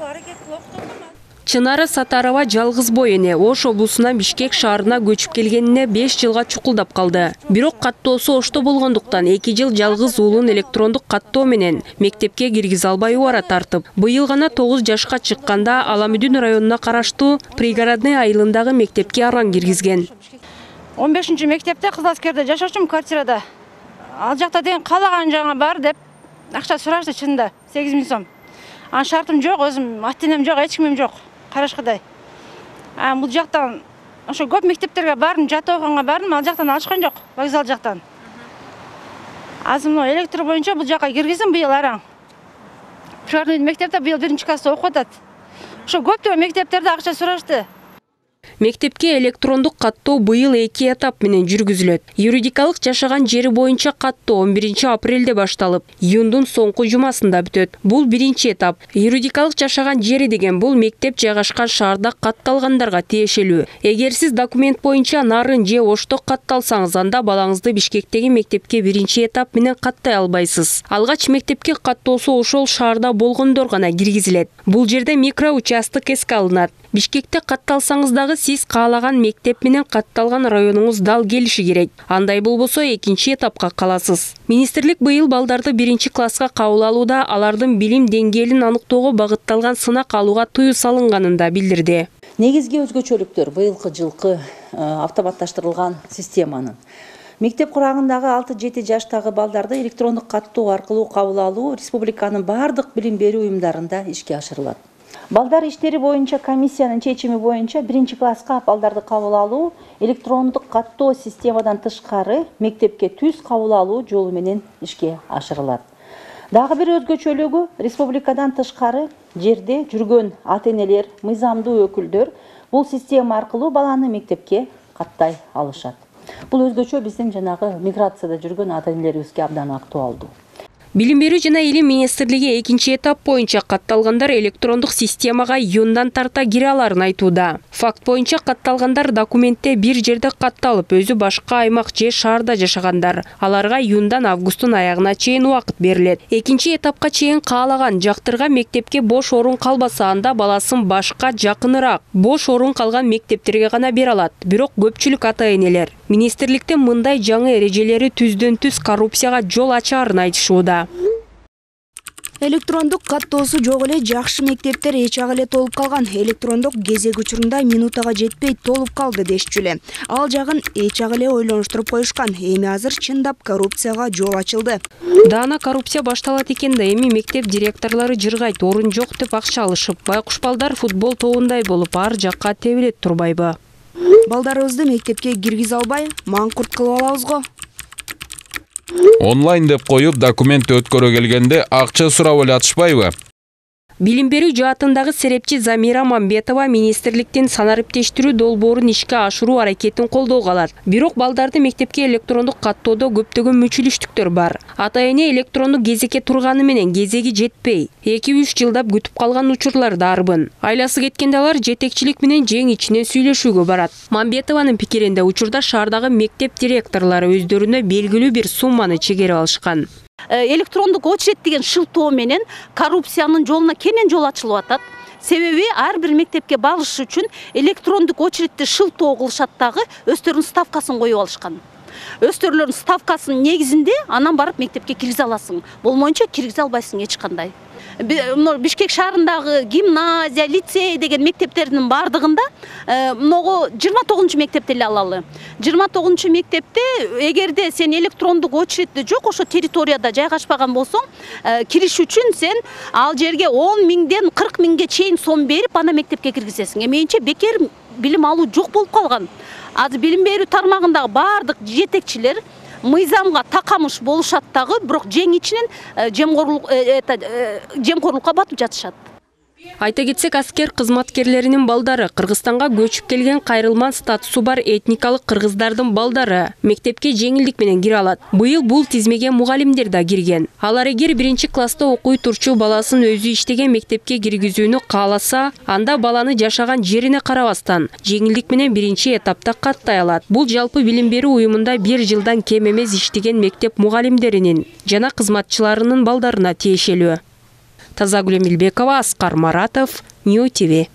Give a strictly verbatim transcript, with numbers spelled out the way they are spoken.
аракет кылып. Чынара Сатарова жалгыз бой эне Ош облусунан Бишкек шаарына көчүп келгенине беш жылга чукулдап калды. Бирок каттоосу Ошто болгондуктан эки жыл жалгыз уулун электрондук каттоо менен мектепке киргизе албай убара тартып, быйыл гана тогуз жашка чыкканда Аламүдүн районуна караштуу Пригородный айылындагы мектепке аран киргизген. он бешинчи мектепте Кызыл Аскерде жашачумун, квартирада. Ал жакта деген каалаган жагыңа бар деп акча сурашты, чынында сегиз миң сом. Анын шартым жок, өзүм ата-энем жок, эч кимим жок. Карашкыдай. А бул жактан ошо көп мектептерге бардым, жат окуганга бардым, ал жактан алышкан жок, вокзал жактан. Азыр мына электр боюнча бул жакка киргиздим быйыл араң. Пригородный мектепте быйыл биринчи класста окуп атат. Ошо көптөгөн мектептерде акча сурашты. Мектепке электрондук каттоо быйыл эки этап менен жүргүзүлөт. Юридикалык жашаган жери боюнча каттоо он биринчи апрелде башталып, июндун соңку жумасында бүтөт. Бул биринчи этап. Юридикалык жашаган жери деген бул мектеп жайгашкан шаарда катталгандарга тиешелүү. Эгер сиз документ боюнча Нарын же Ошто катталсаңыз, анда балаңызды Бишкектеги мектепке биринчи этап менен каттай албайсыз. Алгач мектепке каттоосу ошол шаарда болгондор гана киргизилет. Бул жерде микроучасток эске алынат. Бишкекте катталсаңыз дагы сиз каалаган мектеп менен катталган районуңуз дал келиши керек. Андай болбосо экинчи этапка каласыз. Министрлик быйыл балдарды биринчи класска кабыл алууда алардын билим деңгээлин аныктоого багытталган сынак алууга тыюу салынганын да билдирди. Негизги өзгөчөлүктөр быйылкы жылкы автоматташтырылган системанын мектеп курагындагы алты жети жаштагы балдарды электрондук каттоо аркылуу кабыл алуу республиканын бардык билим берүү уюмдарында ишке ашырылат. Балдар иштери боюнча комиссиянын чечими боюнча биринчи класска балдарды кабыл алуу электрондук каттоо системадан тышкары мектепке түз кабыл алуу жолу менен ишке ашырылат. Дагы бир өзгөчөлүгү республикадан тышкары жерде жүргөн ата-энелер, мыйзамдуу өкүлдөр бул система аркылуу баланы мектепке каттай алышат. Бул өзгөчө биздин жанагы миграцияда жүргөн ата-энелерибизге абдан актуалдуу. Билим берүү жана илим министрлиги экинчи этап боюнча катталгандар электрондук системага июндан тарта кире аларын айтууда. Факт боюнча катталгандар документте бир жерде катталып, өзү башка аймак же шаарда жашагандар. Аларга июндан августтун аягына чейин убакыт берилет. Экинчи этапка чейин каалаган жактырга мектепке бош орун калбаса, анда баласын башка жакыныраак бош орун калган мектептерге гана бере алат. Бирок көпчүлүк ата-энелер министрликтин мындай жаңы эрежелери түздөн түз коррупцияга жол ачаарын айтышууда. Электрондук каттоосу жок эле жакшы мектептер эч ак эле толуп калган. Электрондук кезек учурунда минутага жетпей толуп калды дешчү эле. Ал жагын эч ак эле ойлонуштуруп коюшкан. Эми азыр чындап коррупцияга жол ачылды. Даана коррупция башталат экен да, эми мектеп директорлору жыргайт, орун жок деп акча алышып, байкуш балдар футбол тобундай болуп ар жакка тебилет турбайбы? Балдарыбызды мектепке киргизе албай, маңкурт кылып алабыз го. Онлайн деп коюп документ өткөрө келгенде акча сурап эле атышпайбы? Билим берүү жаатындагы серепчи Замира Мамбетова министрликтин санариптештирүү долбоорун ишке ашыруу аракетин колдоого алат. Бирок балдарды мектепке электрондук каттоодо көптөгөн мүчүлүштүктөр бар. Ата-эне электрондук кезекке турганы менен кезеги жетпей, эки үч жылдап күтүп калган учурлар да арбын. Айласы кеткенде алар жетекчилик менен жең ичинен сүйлөшүүгө барат. Мамбетованын пикиринде учурда шаардагы мектеп директорлору өздөрүнө белгилүү бир сумманы чегерип алышкан. Электрондук очередь деген шылтоо менен коррупциянын жолуна кенен жол ачылып атат. Себеби ар бир мектепке барыш үчүн электрондук очередти шылтоо кылышат дагы, өздөрүнүн ставкасын коюп алышкан. Өздөрүнүн ставкасынын негизинде анан барып мектепке киргизе аласың. Болмойнчо киргизе албайсың эч кандай. Бишкек шаарындагы гимназия, лицей деген мектептердин бардыгында могу жыйырма тогузунчу мектепти эле алалы. жыйырма тогузунчу мектепте эгерде сен электрондук очередти жок ошо территорияда жайгашпаган болсоң, кириш үчүн сен ал жерге он миңден кырк миңге чейин сом берип ана мектепке киргизесиң. Менимче бекер билим алуу жок болуп калган. Азыр билим берүү тармагындагы бардык жетекчилер мыйзамга такамыш болушат дагы, бирок жең ичинен жемкорлукка батып жатышат. Айта кетсек, аскер кызматкерлеринин балдары, Кыргызстанга көчүп келген кайрылман статусу бар этникалык кыргыздардын балдары мектепке жеңилдик менен кире алат. Быйыл бул тизмеге мугалимдер да кирген. Алар эгер биринчи класста окуй турчу баласын өзү иштеген мектепке киргизүүнү кааласа, анда баланы жашаган жерине карабастан жеңилдик менен биринчи этапта каттай алат. Бул жалпы билим берүү уюмунда бир жылдан кем эмес иштеген мектеп мугалимдеринин жана кызматчыларынын балдарына тиешелүү. Тазагүл Эмилбекова, Аскар Маратов, Нью ТВ.